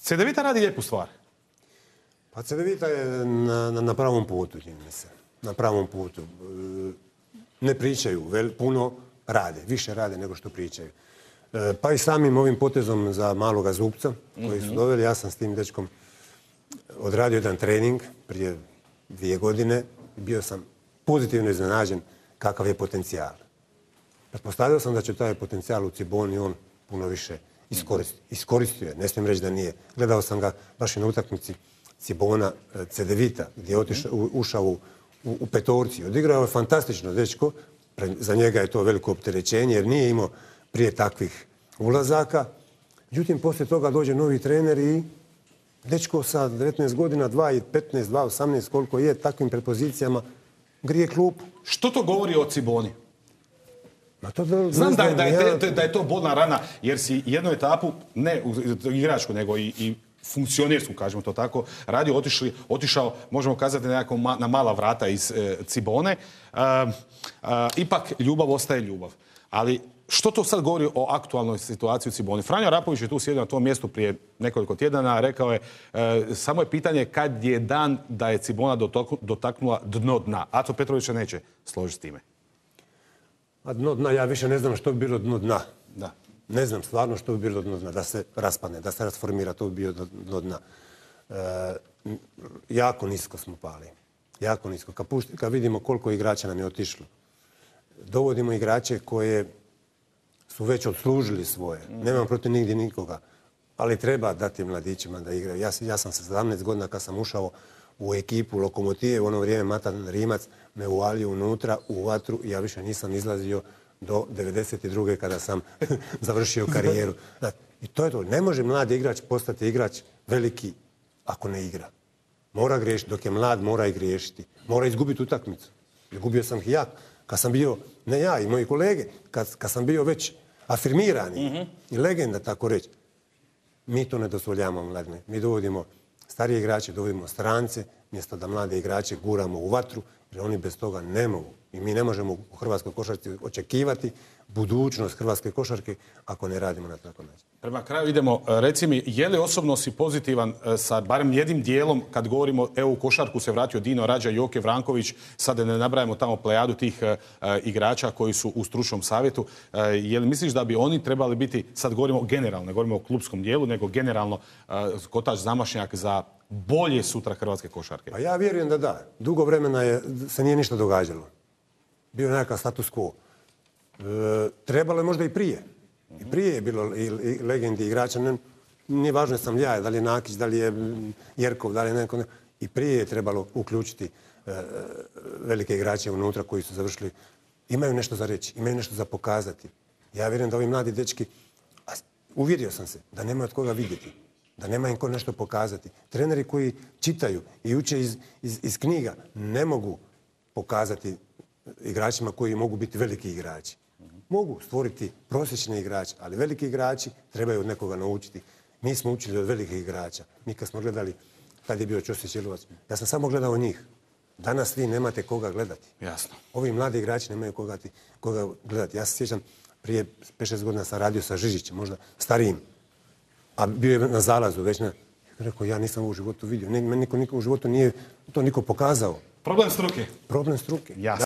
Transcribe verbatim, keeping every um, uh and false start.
Cedevita radi lijepu stvar. Pa Cedevita je na, na, na pravom putu, čini mi se. Na pravom putu. Ne pričaju, vel, puno rade, više rade nego što pričaju. Pa i samim ovim potezom za maloga Zupca, koji su doveli, ja sam s tim dečkom odradio jedan trening prije dvije godine. Bio sam pozitivno iznenađen kakav je potencijal. Pretpostavio sam da će taj potencijal u Ciboni on puno više iskoristiti. Iskoristio je, ne smijem reći da nije. Gledao sam ga baš i na utakmici Cibona Cedevita, gdje je otišao, ušao u, u, u petorci. Odigrao je fantastično dečko. Za njega je to veliko opterećenje jer nije imao prije takvih ulazaka. Međutim, poslije toga dođe novi trener i dečko sa devetnaest godina, dva i petnaest, dva i osamnaest, koliko je, takvim prepozicijama, grije klupu. Što to govori o Ciboni? Ma to da, Znam da, znam, da, je, ja... te, da je to bolna rana, jer si jednu etapu, ne igračku, nego i, i funkcionersku, kažemo to tako, radio, otišli, otišao, možemo kazati, nekako ma, na mala vrata iz e, Cibone. E, e, ipak ljubav ostaje ljubav. Ali što to sad govori o aktualnoj situaciji u Ciboni? Franjo Arapović je tu sjedio na tom mjestu prije nekoliko tjedana, rekao je, e, samo je pitanje kad je dan da je Cibona dotaknula dno dna. Aco Petrović se neće složiti s time. A dno dna, ja više ne znam što bi bilo dno dna. Da. Ne znam stvarno što bi bilo dno dna, da se raspadne, da se rasformira, to bi bio dno dna. E, jako nisko smo pali. Jako nisko. Kad, pušti, kad vidimo koliko igrača nam je otišlo, dovodimo igrače koje su već odslužili svoje. Nemam protiv nigdje nikoga. Ali treba dati mladićima da igraju. Ja, ja sam sa sedamnaest godina kad sam ušao u ekipu Lokomotive, u ono vrijeme Matan Rimac me uvalio unutra u vatru i ja više nisam izlazio do devedeset druge kada sam završio karijeru. I to je to. Ne može mladi igrač postati igrač veliki ako ne igra. Mora griješiti. Dok je mlad, mora i griješiti. Mora izgubiti utakmicu. Izgubio sam ih ja. Kad sam bio, ne ja i moji kolege, kad, kad sam bio već afirmirani mm-hmm. i legenda, tako reći, mi to ne dozvoljavamo mladine. Mi dovodimo starije igrače, dovodimo strance, mjesto da mlade igrače guramo u vatru, jer oni bez toga ne mogu. I mi ne možemo u hrvatskoj košarci očekivati budućnost hrvatske košarke ako ne radimo na takav način. Prema kraju idemo. Reci mi, je li osobno si pozitivan sa barem jednim dijelom kad govorimo E U košarku se vratio Dino Rađa, Joke Vranković, sad ne nabrajamo tamo plejadu tih uh, igrača koji su u stručnom savjetu. Uh, je li misliš da bi oni trebali biti, sad govorimo generalno, ne govorimo o klubskom dijelu, nego generalno uh, kotač zamašnjak za bolje sutra hrvatske košarke? Pa ja vjerujem da da. Dugo vremena je, se nije ništa događalo. Bio je nekakav status quo. E, trebalo je možda i prije. I prije je bilo i, i legendi igrača. Ne, nije važno da sam ja, da li je Nakić, da li je Jerkov, da li je neko. Ne. I prije je trebalo uključiti e, velike igrače unutra koji su završili. Imaju nešto za reći, imaju nešto za pokazati. Ja vjerujem da ovi mladi dečki, a uvjerio sam se da nemaju od koga vidjeti. Da nema im ko nešto pokazati. Treneri koji čitaju i uče iz, iz, iz knjiga ne mogu pokazati igračima koji mogu biti veliki igrači. Mogu stvoriti prosječne igrače, ali veliki igrači trebaju od nekoga naučiti. Mi smo učili od velikih igrača. Mi kad smo gledali, tad je bio Ćosić Jelovac, ja sam samo gledao njih. Danas vi nemate koga gledati. Jasno. Ovi mladi igrači nemaju koga, koga gledati. Ja se sjećam, prije pet šest godina sam radio sa Žižićem, možda starijim, a bio je na zalazu već na... Rekao, ja nisam u životu vidio. Meni niko, niko u životu nije to niko pokazao. Problem struke. Problem struke. Jasno.